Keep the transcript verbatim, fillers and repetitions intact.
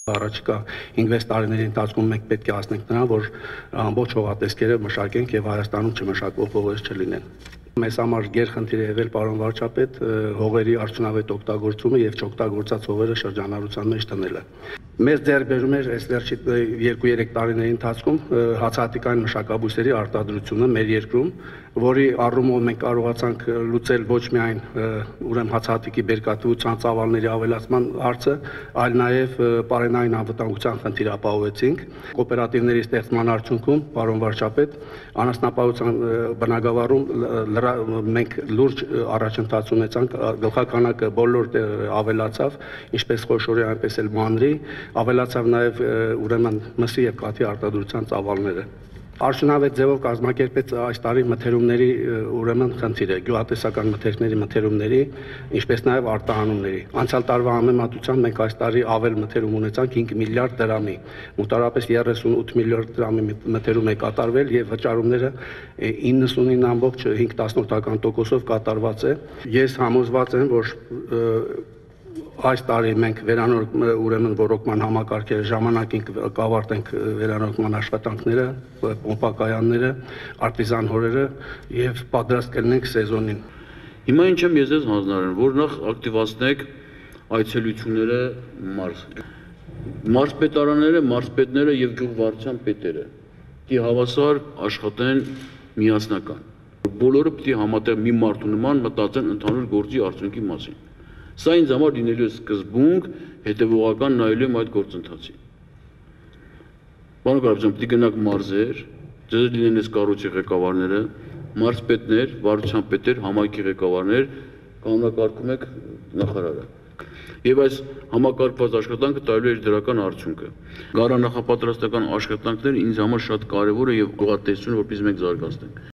Առաջիկա հինգ-վեց տարիների ընթացքում մենք պետք է հասնենք նրան, որ ամբողջ հողատեսկերը մշակենք եւ Հայաստանում չմշակվող հողեր չլինեն։ Մեզ համար գերխնդիր է եղել, պարոն վարչապետ, հողերի արդյունավետ օգտագործումը եւ չօգտագործած հողերը շրջանառության մեջ տնելը։ Մեզ ձեռք բերում էր այս վերջի երկու-երեք տարիների ընթացքում հացահատիկային մշակաբույսերի արտադրությունը մեր երկրում, որի առումով մենք կարողացանք լուծել ոչ միայն ուրեմն հացահատիկի բերքատվության ծավալների ավելացման հարցը, այլ նաև պարենային անվտանգության խնդիր ապահովեցինք։ Կոոպերատիվների ստեղծման արդյունքում, պարոն վարչապետ, անասնապահության բնագավառում մենք լուրջ առաջընթաց ունեցանք, գլխականակը բոլոր ավելացավ, ինչպես խոշորի, այնպես էլ մանրի, ավելացավ նաև ուրեմն մսի եւ կաթի արտադրության ծավալները։ Արդյունավետ ձևով կազմակերպեց այս տարի մթերումների ուրեմն խնդիրը, գյուղատնտեսական մթերքների մթերումների, ինչպես նաև արտահանումների։ Անցյալ տարվա համեմատությամբ մենք այս տարի ավել մթերում ունեցանք հինգ միլիարդ դրամի, մոտավորապես երեսունութ միլիարդ դրամի մթերում է կատարվել եւ վճարումները իննսունինը ամբողջ հինգ տասնորդական տոկոսով կատարված է։ Ես համոզված եմ, որ այս տարի մենք վերանորոգ ուրեմն ռոռոկման համակարգերը ժամանակին կավարտենք վերանորոգման աշխատանքները, պոմպակայանները, արտիզան հորերը եւ պատրաստ կլինենք սեզոնին։ Հիմա ինչ եմ ես ես հանձնարարել, որ նախ ակտիվացնեք այցելությունները մարզ։ Մարզպետարանները, մարզպետները եւ գյուղվարչության պետերը պիտի հավասար աշխատեն միասնական։ Բոլորը պիտի համատեղ մի մարդու նման մտածեն ընդհանուր գործի արդյունքի մասին։ Սա ինձ համար լինելու է սկզբունք, հետևողական նայելու եմ այդ գործընթացին։ Պարոն Կարապետյան, պիտի գնաք մարզեր, ձեզ լինեն այս կառույցի ղեկավարները, մարզպետներ, վարչության պետեր, համայնքի ղեկավարներ, կանոնակարգում եք նախարարը։ Եվ այս համակարգված աշխատանքը տալու է դրական արդյունքը։ Գարանախապատրաստական աշխատանքները ինձ համար շատ կարևոր է եւ գյուղատնտեսությունը, որպես մենք զարգացնենք։